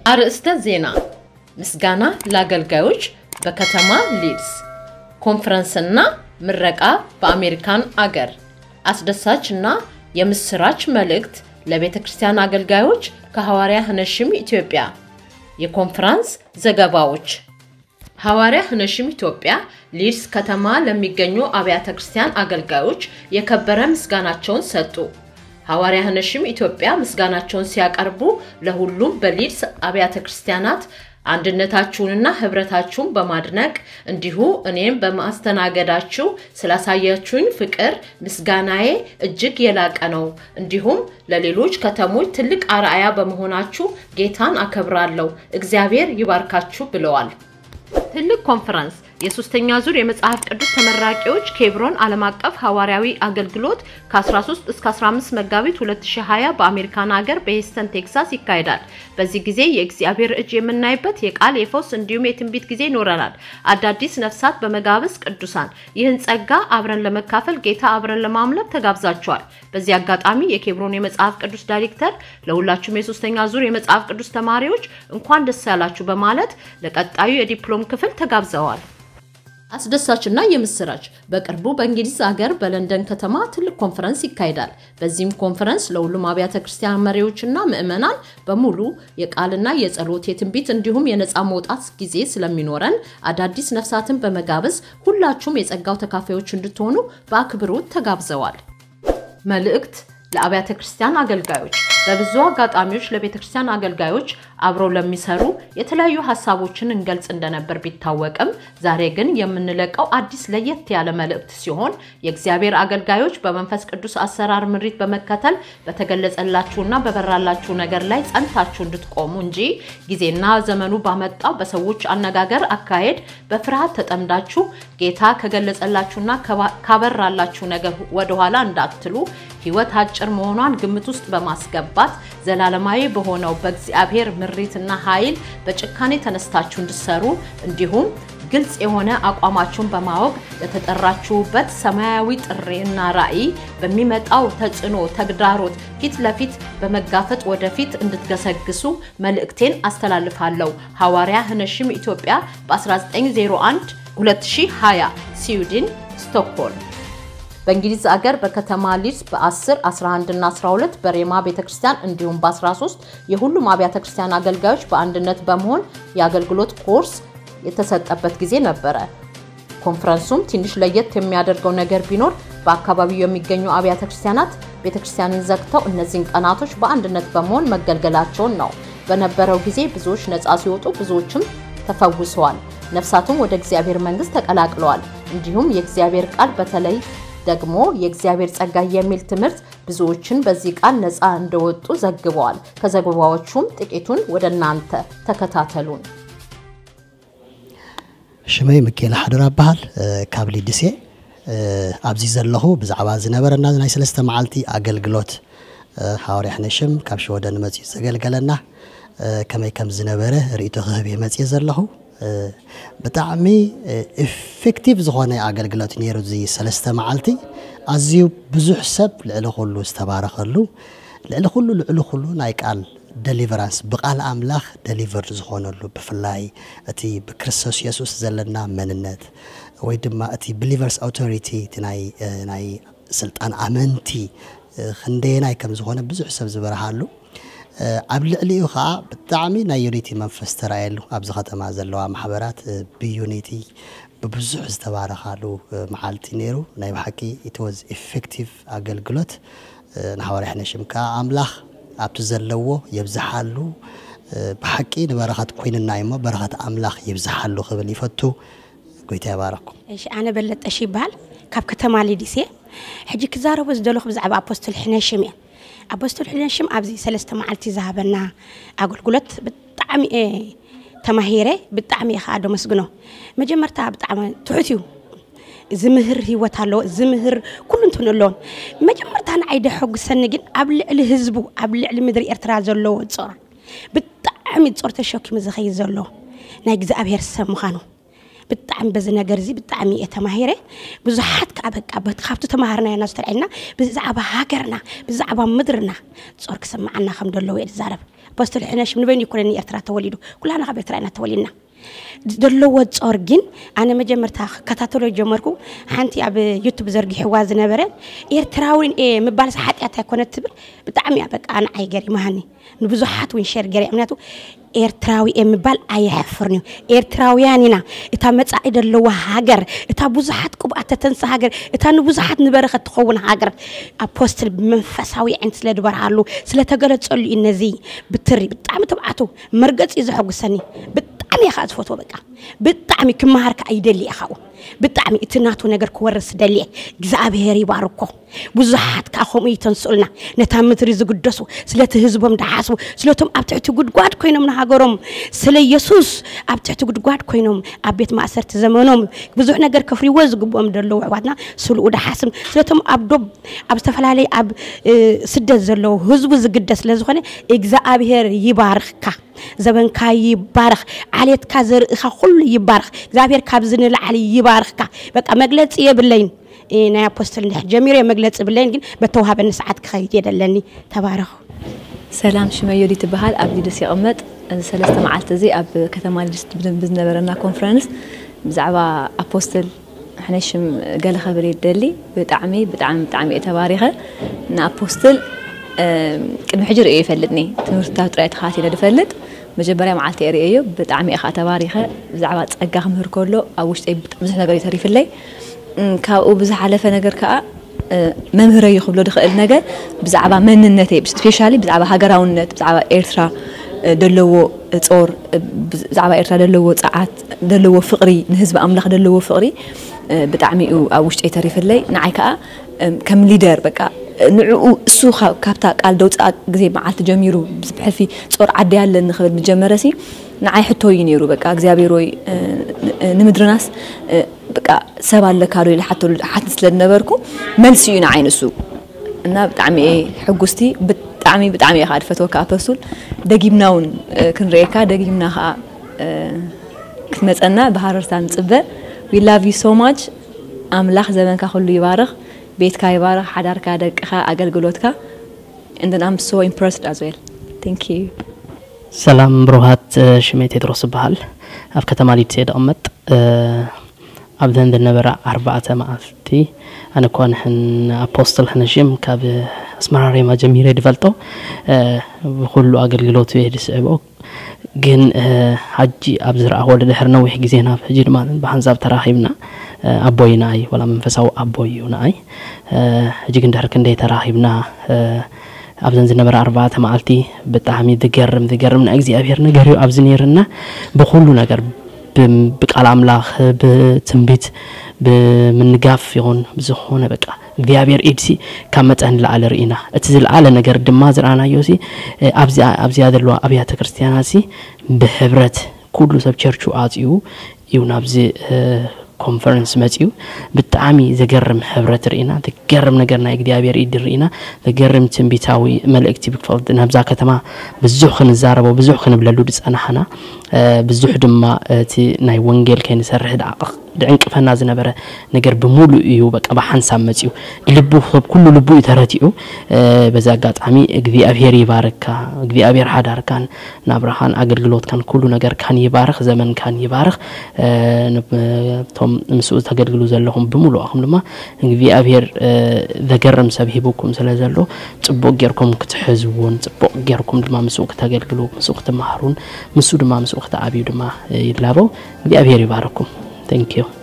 አርእስተ ዜና። ምስጋና ለአገልጋዮች በከተማ ሊድስ። ኮንፈረንስና ምረቃ በአሜሪካን አገር። አስደሳች እና የምስራች መልእክት ለቤተ ክርስቲያን አገልጋዮች ከሐዋርያ ህነሽም ኢትዮጵያ። የኮንፈረንስ ዘገባዎች። ሐዋርያ ህነሽም ኢትዮጵያ ሊድስ ከተማ ለሚገኙ አብያተ ክርስቲያን አገልጋዮች የከበረ ምስጋናቸውን ሰጡ። ሐዋርያ ህነሽም ኢትዮጵያ ምስጋናቸውን ሲያቀርቡ ለሁሉም በሊድስ አብያተ ክርስቲያናት አንድነታችሁንና ህብረታችሁን በማድነቅ እንዲሁ እኔም በማስተናገዳችሁ ስላሳያችሁኝ ፍቅር ምስጋናዬ እጅግ የላቀ ነው። እንዲሁም ለሌሎች ከተሞች ትልቅ አርአያ በመሆናችሁ ጌታን አከብራለሁ። እግዚአብሔር ይባርካችሁ ብለዋል። ትልቅ ኮንፈረንስ። የሶስተኛ ዙር የመጽሐፍ ቅዱስ ተመራቂዎች ኬብሮን ዓለም አቀፍ ሐዋርያዊ አገልግሎት ከ13 እስከ 15 መጋቢት 2020 በአሜሪካን ሀገር በሂስተን ቴክሳስ ይካሄዳል። በዚህ ጊዜ የእግዚአብሔር እጅ የምናይበት የቃል የፈውስ እንዲሁም የትንቢት ጊዜ ይኖረናል። አዳዲስ ነፍሳት በመጋበዝ ቅዱሳን ይህን ጸጋ አብረን ለመካፈል ጌታ አብረን ለማምለክ ተጋብዛችኋል። በዚህ አጋጣሚ የኬብሮን የመጽሐፍ ቅዱስ ዳይሬክተር ለሁላችሁም የሶስተኛ ዙር የመጽሐፍ ቅዱስ ተማሪዎች እንኳን ደስ ያላችሁ በማለት ለቀጣዩ የዲፕሎም ክፍል ተጋብዘዋል። አስደሳችና የምስራች። በቅርቡ በእንግሊዝ አገር በለንደን ከተማ ትልቅ ኮንፈረንስ ይካሄዳል። በዚህም ኮንፈረንስ ለሁሉም አብያተ ክርስቲያን መሪዎችና ምዕመናን በሙሉ የቃልና የጸሎት የትንቢት እንዲሁም የነጻ መውጣት ጊዜ ስለሚኖረን አዳዲስ ነፍሳትን በመጋበዝ ሁላችሁም የጸጋው ተካፋዮች እንድትሆኑ በአክብሮት ተጋብዘዋል። መልእክት ለአብያተ ክርስቲያን አገልጋዮች። በብዙ አጋጣሚዎች ለቤተ ክርስቲያን አገልጋዮች አብረው ለሚሰሩ የተለያዩ ሐሳቦችን እንገልጽ እንደነበር ቢታወቅም ዛሬ ግን የምንለቀው አዲስ ለየት ያለ መልእክት ሲሆን የእግዚአብሔር አገልጋዮች በመንፈስ ቅዱስ አሰራር ምሪት በመከተል በተገለጸላችሁና በበራላችሁ ነገር ላይ ጸንታችሁ እንድትቆሙ እንጂ ጊዜና ዘመኑ ባመጣው በሰዎች አነጋገር አካሄድ በፍርሃት ተጠምዳችሁ ጌታ ከገለጸላችሁና ከባ-፣ ካበራላችሁ ነገር ወደኋላ እንዳትሉ ሕይወት አጭር መሆኗን ግምት ውስጥ በማስገባት ዘላለማዊ በሆነው በእግዚአብሔር ምሪትና ኃይል በጭካኔ ተነስታችሁ እንድትሰሩ እንዲሁም ግልጽ የሆነ አቋማችሁን በማወቅ ለተጠራችሁበት ሰማያዊ ጥሪና ራዕይ በሚመጣው ተጽዕኖ ተግዳሮት ፊት ለፊት በመጋፈጥ ወደፊት እንድትገሰግሱ መልእክቴን አስተላልፋለሁ። ሐዋርያ ህነሽም ኢትዮጵያ በ1901 2020 ስዊድን ስቶክሆልም። በእንግሊዝ አገር በከተማ ሊድስ በ10፣ 11 እና 12 በሬማ ቤተክርስቲያን እንዲሁም በ13 የሁሉም አብያተ ክርስቲያን አገልጋዮች በአንድነት በመሆን የአገልግሎት ኮርስ የተሰጠበት ጊዜ ነበረ። ኮንፈረንሱም ትንሽ ለየት የሚያደርገው ነገር ቢኖር በአካባቢው የሚገኙ አብያተ ክርስቲያናት ቤተክርስቲያንን ዘግተው እነዚህን ቀናቶች በአንድነት በመሆን መገልገላቸውን ነው። በነበረው ጊዜ ብዙዎች ነፃ ሲወጡ ብዙዎችም ተፈውሰዋል። ነፍሳቱም ወደ እግዚአብሔር መንግስት ተቀላቅለዋል። እንዲሁም የእግዚአብሔር ቃል በተለይ ደግሞ የእግዚአብሔር ጸጋ የሚል ትምህርት ብዙዎችን በዚህ ቃል ነፃ እንደወጡ ዘግበዋል። ከዘገባዎቹም ጥቂቱን ወደ እናንተ ተከታተሉን። ሽመይ ምኬል ሓዱር ኣበሃል፣ እ፣ ካብ ሊድስ እየ። እ፣ ኣብዚ ዘለኹ ብዛዕባ ዝነበረና ናይ ሰለስተ መዓልቲ ኣገልግሎት፣ እ፣ ሃዋርያ ሕነሽም ካብ ሽወደን መጺኡ ዘገልገለና፣ እ፣ ከመይ ከም ዝነበረ ርእይቶ ክህብ እየ መጺእ ዘለኹ። እ፣ ብጣዕሚ፣ እ፣ ኢፌክቲቭ ዝኾነ ኣገልግሎት ነይሩ። እዚ ሰለስተ መዓልቲ ኣዝዩ ብዙሕ ሰብ ልዕሊ ኩሉ ዝተባረኸሉ፣ ልዕሊ ኩሉ ልዕሊ ኩሉ ናይ ቃል ደሊቨራንስ፣ ብቃል ኣምላኽ ደሊቨርድ ዝኾነሉ፣ ብፍላይ እቲ ብክርስቶስ የሱስ ዘለና መንነት ወይ ድማ እቲ ብሊቨርስ ኣውቶሪቲ፣ እቲ ናይ፣ እ፣ ናይ ስልጣን ኣመንቲ፣ እ፣ ክንደየናይ ከም ዝኾነ ብዙሕ ሰብ ዝበርሃሉ፣ እ፣ ኣብ ልዕሊኡ ኸዓ ብጣዕሚ ናይ ዩኒቲ መንፈስ ተራእየሉ። ኣብዚ ከተማ ዘለዋ ማሕበራት፣ እ፣ ብዩኒቲ ብብዙሕ ዝተባረኻሉ፣ እ፣ መዓልቲ ነይሩ። ናይ ብሓቂ ኢት ዋዝ ኢፌክቲቭ ኣገልግሎት። እ፣ ንሃዋርያ ሕነሽም ከዓ ኣምላኽ ኣብቲ ዘለዎ የብዝሓሉ። እ፣ ብሓቂ ንበረኸት ኮይንና እዩሞ በረኸት ኣምላኽ ይብዝሓሉ ክብል ይፈቱ። ጎይታ ይባረኩም። እሺ፣ ኣነ በለጠሽ ይበሃል፣ ካብ ከተማ ሊድስ እየ። ሕጂ ክዛረቦ ዝደለኹ ብዛዕባ ኣፖስትል ሕነሽም እየ። ኣፖስትል ሕነሽም ኣብዚ ሰለስተ መዓልቲ ዝሃበና ኣገልግሎት ብጣዕሚ እየ ተማሂረ፣ ብጣዕሚ እየ ከዓ ደመስግኖ። መጀመርታ ብጣዕሚ ትሑት እዩ፣ ዝምህር ህይወት ኣለዎ፣ ዝምህር ኩሉ እንትን ኣለዎ። መጀመርታ ንዓይ ደሐጉሰኒ ግን ኣብ ልዕሊ ህዝቡ፣ ኣብ ልዕሊ ምድሪ ኤርትራ ዘለዎ ጾር፣ ብጣዕሚ ጾር ተሸኪሙ ዝኸይድ ዘሎ ናይ እግዚኣብሔር ሰብ ምዃኑ ብጣዕሚ በዚ ነገር እዚ ብጣዕሚ እየ ተማሂረ። ብዙሓት ከዓ በቃ በቲ ካብቲ ተማሃርናዮ እና ዝተልዐልና ብዛዕባ ሃገርና ብዛዕባ ምድርና ጾር ክስምዓና ከም ዘለዎ እየ ዝዛረብ። ኣፖስትል ሕነሽም ንበይኑ ይኮነኒ ኤርትራ ተወሊዱ፣ ኩላና ካብ ኤርትራ ኢና ተወሊድና። ዘለዎ ጾር ግን ኣነ መጀመርታ ክከታተሎ ጀመርኩ። ሓንቲ ኣብ ዩቱብ ዘርጊሕዋ ዝነበረ ኤርትራዊ እየ ምባልስ ሓጢኣት ኣይኮነ ትብል። ብጣዕሚ እያ በቃ ንዓይ ገሪማኒ። ንብዙሓት እውን ሸር ገሪያ ምክንያቱ ኤርትራዊ እየ ምባል ኣየሕፍርን እዩ። ኤርትራውያን ኢና። እታ መጻኢ ዘለዋ ሃገር፣ እታ ብዙሓት ቅብኣት ተተንሳ ሃገር፣ እታ ንብዙሓት ንበረኸት ትኸውን ሃገር ኣፖስትል ብመንፈሳዊ ዕንት ስለ ዝበርሃሉ ስለተገለጸሉ እዩ። ነዚ ብትሪ ብጣዕሚ ትብዓቱ መርገጺ እዩ ዘሐጉሰኒ። ብጣዕሚ እየ ከዓ ዝፈትዎ። በቃ ብጣዕሚ ክመሃር ከዓ ይደሊ እየ ካብኡ። ብጣዕሚ እቲ ናቱ ነገር ክወርስ ደልየ። እግዚኣብሔር ይባርኮ። ብዙሓት ከዓ ከምኡ ይተንስኡልና። ነታ ምድሪ ዝግደሱ፣ ስለቲ ህዝቦም ድሓስቡ፣ ስለቶም ኣብ ትሕቲ ጉድጓድ ኮይኖም ንሃገሮም፣ ስለ ኢየሱስ ኣብ ትሕቲ ጉድጓድ ኮይኖም ኣብ ቤት ማእሰርቲ ዘመኖም ብዙሕ ነገር ከፍርይዎ ዝግብኦም ዘለዉ ኣሕዋትና ስልኡ ድሓስም፣ ስለቶም ኣብ ዶብ ኣብ ዝተፈላለየ ኣብ እ፣ ስደት ዘለዉ ህዝቡ ዝግደስ ስለ ዝኾነ እግዚኣብሔር ይባርኽካ። ዘበንካ ይባረኽ። ዓሌትካ ዘርእኻ ኩሉ ይባረኽ። እግዚኣብሔር ካብዚ ንላዕሊ ይባርኽካ። በቃ መግለጺ የብለይን። እ፣ ናይ ኣፖስትል እንድሕር ጀሚረ መግለጺ የብለይን፣ ግን በተዋሃበኒ ሰዓት ክኸይድ እየ ደለኒ። ተባረኹ። ሰላም፣ ሽመይ ዮዲት ትበሃል። ኣብ ሊድስ ይቕመጥ። እዚ ሰለስተ መዓልቲ እዚ ኣብ ከተማ ሊድስ ብዝነበረና ኮንፈረንስ ብዛዕባ ኣፖስትል ሕነ ሽም ገለ ክብል እየ ደሊ። ብጣዕሚ ብጣዕሚ ብጣዕሚ እየ ተባሪኸ። ንኣፖስትል ቅድሚ ሕጂ ርእዮ ይፈልጥኒ። ትምህርትታት ጥራይ ተኻቲለ ድፈልጥ። መጀመርያ መዓልቲ እየ ርእዮ። ብጣዕሚ እየ ከዓ ተባሪኸ። ብዛዕባ ጸጋ ክምህር ከሎ ኣብ ውሽጠይ ብዙሕ ነገር እዩ ተሪፍለይ። ካብኡ ብዝሓለፈ ነገር ከዓ መምህረይ ክብሎ ድኽእል ነገር ብዛዕባ መንነተይ፣ ስፔሻሊ ብዛዕባ ሃገራውነት፣ ብዛዕባ ኤርትራ ደለዎ ጾር፣ ብዛዕባ ኤርትራ ደለዎ ጸዓት፣ ደለዎ ፍቕሪ፣ ንህዝቢ ኣምላኽ ደለዎ ፍቕሪ ብጣዕሚ እዩ ኣብ ውሽጠይ ተሪፍለይ። ንዓይ ከዓ ከም ሊደር በቃ ንዕኡ እሱ ካብታ ቃል ደውፅኣ ግዜ መዓልቲ ጀሚሩ ብሕልፊ ጾር ዓዲ ኣለኒ ክብል ምጀመረሲ ንዓይ ሕቶ እዩ ነይሩ። በቃ እግዚኣብሔር ወይ ንምድርናስ በቃ ሰብ ኣለካ ዶ ኢለ ሓተሉ ሓት ስለ ዝነበርኩ መልሲ እዩ ንዓይ ንሱ። እና ብጣዕሚ እየ ሕጉስቲ። ብጣዕሚ ብጣዕሚ እየ ከዓ ድፈትወካ ኣፖስቱል። ደጊምና እውን ክንርእየካ፣ ደጊምና ከዓ ክትመፀና ብሃረርታ ንፅበ። We love you so much። ኣምላኽ ዘመንካ ኩሉ ይባርኽ። ቤትካ ይባርኽ፣ ሓዳርካ፣ ደቅኻ፣ ኣገልግሎትካ። And then I'm so impressed as well. Thank you. ሰላም ብሩሃት፣ ሽመይ ቴድሮስ እበሃል። ኣብ ከተማ ሊድስ እየ ዝቕመጥ። ኣብዘን ዝነበራ ኣርባዕተ መዓልቲ ኣነ እኳ ንሕን ኣፖስትል ሕነሽም ካብ ኣስመራ ሬማ ጀሚረ ድፈልጦ፣ ብኩሉ ኣገልግሎቱ እየ ድስዕቦ። ግን ሓጂ ኣብ ዝረኣኽዎ ድሕሪ ነዊሕ ግዜ ናብ ሕጂ ድማ ብሓንሳብ ተራኺብና። ኣቦይ ንኣይ ዋላ መንፈሳዊ ኣቦይ እዩ ንኣይ። ሕጂ ግን ድሕሪ ክንደይ ተራኺብና ኣብዘን ዝነበራ ኣርባዕተ መዓልቲ ብጣዕሚ ዝገርም ዝገርም ናይ እግዚኣብሔር ነገር እዩ ኣብዚ ነይርና። ብኩሉ ነገር ብቃል ኣምላኽ ብትንቢት ብምንጋፍ ይኹን ብዝኾነ በቃ እግዚኣብሔር ኢድሲ ካብ መጠን ንላዕሊ ርኢና። እቲ ዝለዓለ ነገር ድማ ዝረኣናዮ ሲ ኣብዚኣ ኣብዚኣ ዘለዋ ኣብያተ ክርስትያናት ሲ ብሕብረት ኩሉ ሰብ ቸርቹ ኣፅዩ እዩ ናብዚ ኮንፈረንስ መፅዩ። ብጣዕሚ ዘገርም ሕብረት ርኢና፣ ዘገርም ነገር ናይ እግዚኣብሔር ኢድ ርኢና፣ ዘገርም ትንቢታዊ መልእክቲ ብክፍልቲ ናብዛ ከተማ ብዙሕ ክንዛረቦ ብዙሕ ክንብለሉ ዝፀናሕና ብዙሕ ድማ እቲ ናይ ወንጌል ከይንሰርሕ ድዕንቅፈና ዝነበረ ነገር ብምሉእ እዩ በቃ ብሓንሳብ መፅዩ። ልቡ ሰብ ኩሉ ልቡ እዩ ተረቲዑ። በዚ ኣጋጣሚ እግዚኣብሔር ይባርካ፣ እግዚኣብሔር ሓዳርካን ናብራኻን ኣገልግሎትካን ኩሉ ነገርካን ይባርኽ፣ ዘመንካን ይባርኽ። እቶም ምስኡ ተገልግሉ ዘለኹም ብምሉእኹም ድማ እግዚኣብሔር ዘገርም ሰብ ሂቡኩም ስለ ዘሎ ጽቡቕ ጌርኩም ክትሕዝዎን ጽቡቕ ጌርኩም ድማ ምስኡ ክተገልግሉ ምስኡ ክትመሃሩን ምስኡ ድማ ምስኡ ክትዓብዩ ድማ ይላበው። እግዚኣብሔር ይባርኩም። Thank you።